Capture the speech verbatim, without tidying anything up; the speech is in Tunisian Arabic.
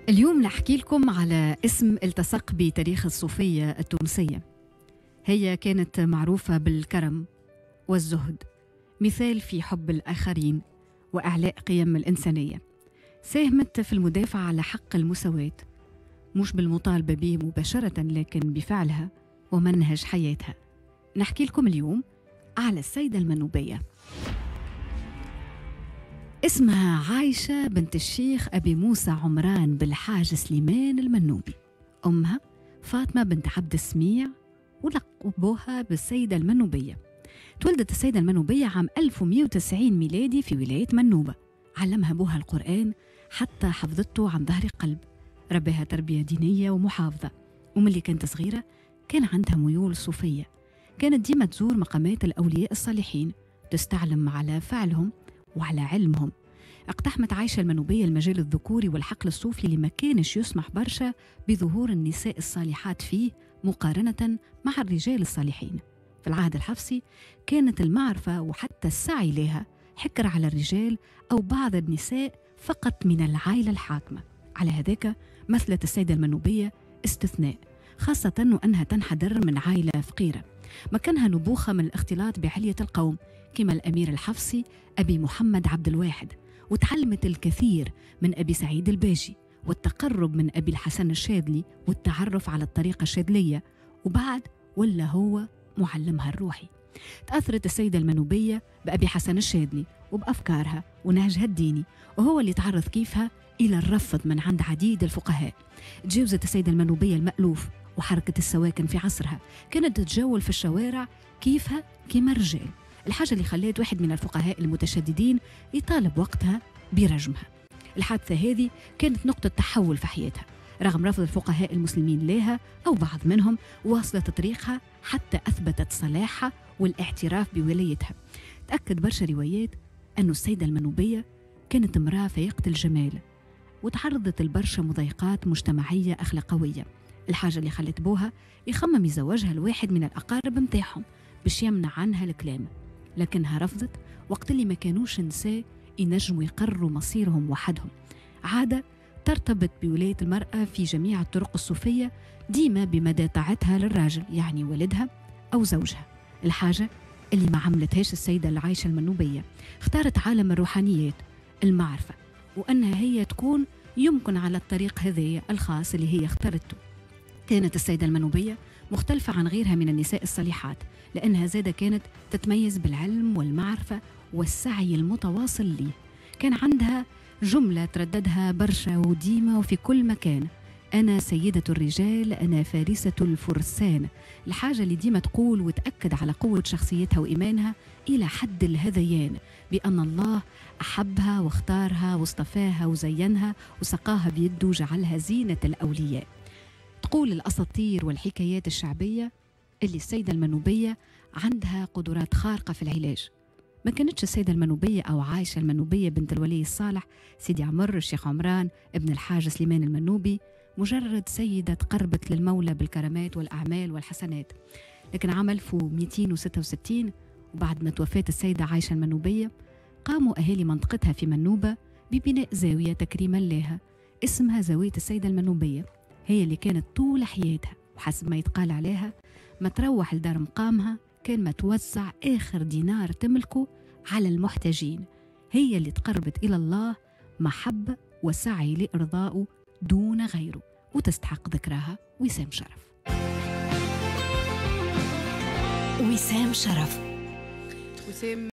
اليوم نحكي لكم على اسم التصق بتاريخ الصوفية التونسية. هي كانت معروفة بالكرم والزهد، مثال في حب الآخرين وإعلاء قيم الإنسانية. ساهمت في المدافعة على حق المساواة، مش بالمطالبة به مباشرة لكن بفعلها ومنهج حياتها. نحكي لكم اليوم على السيدة المنوبية. اسمها عايشة بنت الشيخ أبي موسى عمران بالحاج سليمان المنوبي. أمها فاطمة بنت عبد السميع، ولقبوها بالسيدة المنوبية. تولدت السيدة المنوبية عام ألف ومئة وتسعين ميلادي في ولاية منوبة. علمها أبوها القرآن حتى حفظته عن ظهر قلب. رباها تربية دينية ومحافظة، وملي كانت صغيرة كان عندها ميول صوفية. كانت ديما تزور مقامات الأولياء الصالحين، تستعلم على فعلهم وعلى علمهم. اقتحمت عايشة المنوبية المجال الذكوري والحقل الصوفي اللي ما كانش يسمح برشا بظهور النساء الصالحات فيه مقارنة مع الرجال الصالحين. في العهد الحفصي كانت المعرفة وحتى السعي لها حكر على الرجال أو بعض النساء فقط من العائلة الحاكمة. على هذاك مثلت السيدة المنوبية استثناء، خاصة وأنها تنحدر من عائلة فقيرة مكانها نبوخة من الاختلاط بعلية القوم كما الأمير الحفصي أبي محمد عبد الواحد، وتعلمت الكثير من أبي سعيد الباجي والتقرب من أبي الحسن الشاذلي والتعرف على الطريقة الشاذلية، وبعد ولا هو معلمها الروحي. تأثرت السيدة المنوبية بأبي حسن الشاذلي وبأفكارها ونهجها الديني، وهو اللي تعرض كيفها إلى الرفض من عند عديد الفقهاء. تجاوزت السيدة المنوبية المألوف وحركة السواكن في عصرها، كانت تتجول في الشوارع كيفها كما الرجال، الحاجة اللي خلت واحد من الفقهاء المتشددين يطالب وقتها برجمها. الحادثة هذه كانت نقطة تحول في حياتها، رغم رفض الفقهاء المسلمين لها أو بعض منهم، واصلت طريقها حتى أثبتت صلاحها والاعتراف بولايتها. تأكد برشا روايات أن السيدة المنوبية كانت امرأة فائقة الجمال، وتعرضت لبرشا مضايقات مجتمعية أخلاقوية، الحاجة اللي خلت بوها يخمم يزوجها لواحد من الأقارب متاعهم باش يمنع عنها الكلام، لكنها رفضت وقت اللي ما كانوش نساء ينجموا يقرروا مصيرهم وحدهم. عادة ترتبط بولاية المرأة في جميع الطرق الصوفية ديما بمدى طاعتها للراجل، يعني والدها أو زوجها، الحاجة اللي ما عملتهاش السيدة العايشة المنوبية. اختارت عالم الروحانيات، المعرفة، وأنها هي تكون يمكن على الطريق هذا الخاص اللي هي اختارته. كانت السيدة المنوبية مختلفة عن غيرها من النساء الصالحات، لأنها زادة كانت تتميز بالعلم والمعرفة والسعي المتواصل ليه. كان عندها جملة ترددها برشا وديمة وفي كل مكان: أنا سيدة الرجال، أنا فارسة الفرسان. الحاجة اللي ديما تقول وتأكد على قوة شخصيتها وإيمانها إلى حد الهذيان بأن الله أحبها واختارها واصطفاها وزينها وسقاها بيده وجعلها زينة الأولياء. تقول الأساطير والحكايات الشعبية اللي السيدة المنوبية عندها قدرات خارقة في العلاج. ما كانتش السيدة المنوبية أو عايشة المنوبية بنت الولي الصالح سيدي عمر الشيخ عمران ابن الحاج سليمان المنوبي مجرد سيدة تقربت للمولى بالكرامات والأعمال والحسنات، لكن عام ألف ومئتين وستة وستين وبعد ما توفات السيدة عايشة المنوبية قاموا أهالي منطقتها في منوبة ببناء زاوية تكريما لها اسمها زاوية السيدة المنوبية. هي اللي كانت طول حياتها وحسب ما يتقال عليها ما تروح لدار مقامها كان ما توزع آخر دينار تملكه على المحتاجين. هي اللي تقربت إلى الله محبة وسعي لإرضائه دون غيره، وتستحق ذكرها وسام شرف. وسام شرف. وسام.